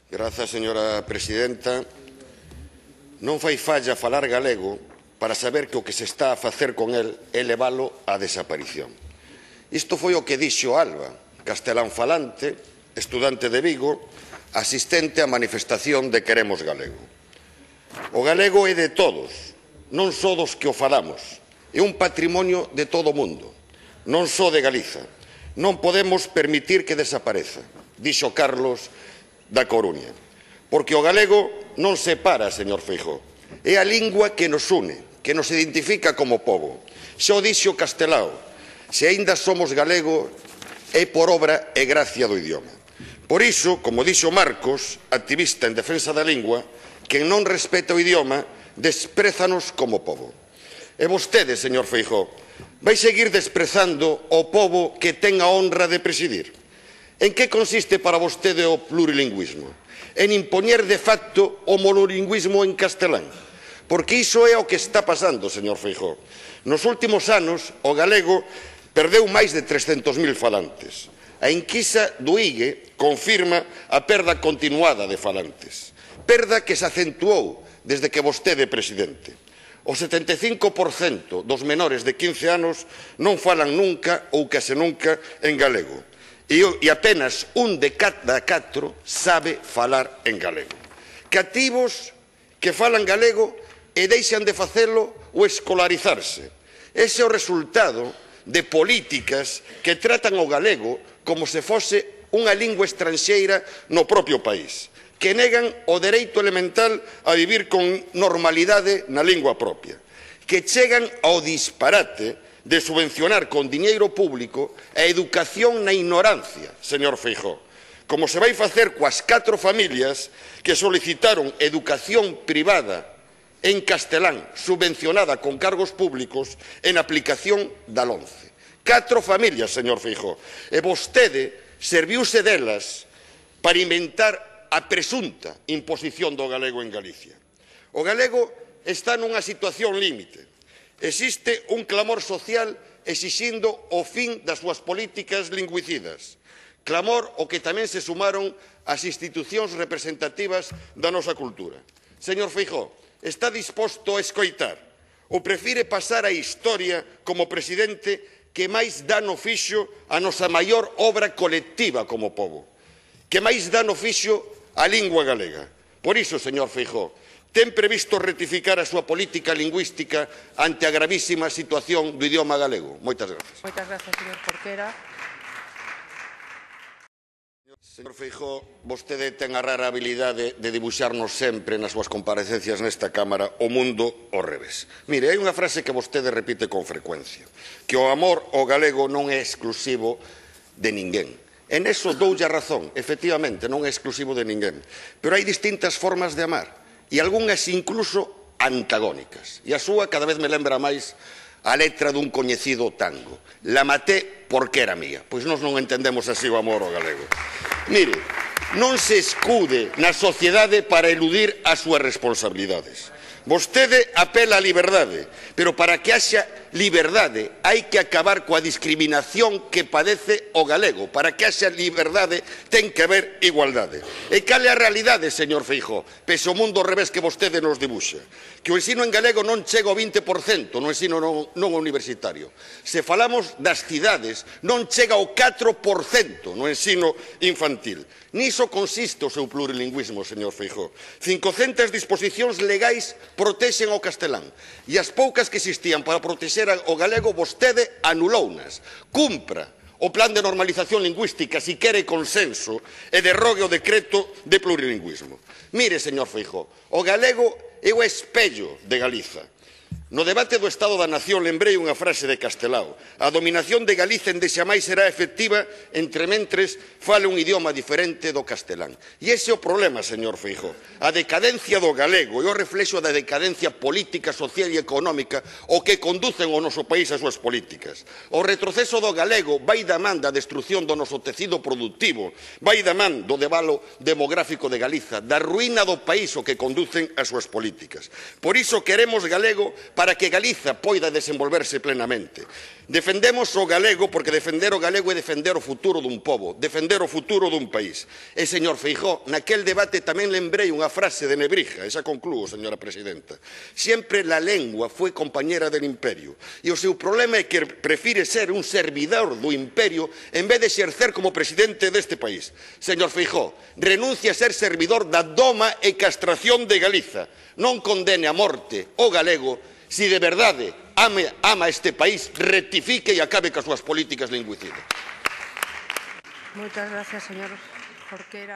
Grazas, señora presidenta. Non fai falla falar galego para saber que o que se está a facer con el é leválo á desaparición. Isto foi o que dixo Alba, castelán falante, estudante de Vigo, asistente á manifestación de Queremos Galego. O galego é de todos, non só dos que o falamos. É un patrimonio de todo o mundo, non só de Galiza. Non podemos permitir que desapareza, dixo Carlos da Coruña. Porque o galego non separa, señor Feijóo. É a lingua que nos une, que nos identifica como pobo. Xa o dixo Castelao, se aínda somos galego é por obra e gracia do idioma. Por iso, como dixo Marcos, activista en defensa da lingua, quen non respeta o idioma desprézanos como pobo. E vostede, señor Feijóo, vai seguir desprezando o pobo que ten a honra de presidir? En que consiste para vostede o plurilingüismo? En impoñer de facto o monolingüismo en castelán? Porque iso é o que está pasando, señor Feijóo. Nos últimos anos, o galego perdeu máis de 300.000 falantes. A enquisa do IGE confirma a perda continuada de falantes. Perda que se acentuou desde que vostede é presidente. O 75% dos menores de 15 anos non falan nunca ou case nunca en galego. E apenas un de cada 4 sabe falar en galego. Cativos que falan galego e deixan de facelo ou escolarizarse. Ese é o resultado de políticas que tratan o galego como se fose unha lingua estranxeira no propio país, que negan o dereito elemental a vivir con normalidade na lingua propia, que chegan ao disparate de subvencionar con diñeiro público a educación na ignorancia, señor Feijóo, como se vai facer coas 4 familias que solicitaron educación privada en castelán subvencionada con cargos públicos en aplicación da LOMCE. 4 familias, señor Feijóo, e vostede serviuse delas para inventar a presunta imposición do galego en Galicia. O galego está nunha situación límite. Existe un clamor social exixindo o fin das súas políticas lingüicidas. Clamor ao que tamén se sumaron as institucións representativas da nosa cultura. Señor Feijóo, está disposto a escoitar ou prefire pasar a historia como presidente que máis dano fixo a nosa maior obra colectiva como pobo, que máis dano fixo a lingua galega? Por iso, señor Feijóo, ten previsto rectificar a súa política lingüística ante a gravísima situación do idioma galego? Moitas grazas. Moitas grazas, señor Porquera. Señor Feijóo, vostede ten a rara habilidade de dibuixarnos sempre nas súas comparecencias nesta Cámara o mundo ao revés. Mire, hai unha frase que vostede repite con frecuencia, que o amor ao galego non é exclusivo de ninguén. En eso doulle a razón, efectivamente, non é exclusivo de ninguén. Pero hai distintas formas de amar, e algunhas incluso antagónicas. E a súa cada vez me lembra máis a letra dun coñecido tango. La maté porque era mía. Pois nós non entendemos así o amor ao galego. Mire, non se escude na sociedade para eludir as súas responsabilidades. Vostede apela á liberdade, pero para que haxa liberdade hai que acabar coa discriminación que padece o galego. Para que haxa liberdade ten que haber igualdade. E cal é a realidade, señor Feijóo, pese ao mundo ao revés que vostede nos dibuxa? Que o ensino en galego non chega ao 20% no ensino non universitario. Se falamos das cidades, non chega ao 4% no ensino infantil. Niso consiste o seu plurilingüismo, señor Feijóo. 500 disposicións legais protexen o castelán e as poucas que existían para protexer o galego vostede anulounas. Cumpra o plan de normalización lingüística si quere consenso e derrogue o decreto de plurilingüismo. Mire, señor Feijóo, o galego é o espello de Galiza. No debate do Estado da Nación lembrei unha frase de Castelao: a dominación de Galiza endexamais será efectiva entre mentres fale un idioma diferente do castelán. E ese é o problema, señor Feijóo. A decadencia do galego é o reflexo da decadencia política, social e económica o que conducen o noso país as súas políticas. O retroceso do galego vai da man da destrucción do noso tecido productivo, vai da man do debalo demográfico de Galiza, da ruína do país o que conducen as súas políticas. Por iso queremos galego para para que Galiza poida desenvolverse plenamente. Defendemos o galego porque defender o galego é defender o futuro dun pobo, defender o futuro dun país. E, señor Feijóo, naquel debate tamén lembrei unha frase de Nebrija, e xa conclúo, señora presidenta. Sempre la lengua foi compañera del imperio, e o seu problema é que prefire ser un servidor do imperio en vez de exercer como presidente deste país. Señor Feijóo, renuncia a ser servidor da doma e castración de Galiza. Non condene a morte o galego. Si de verdade ama este país, rectifique e acabe coas súas políticas lingüicidas. Moitas gracias, señor Jorquera.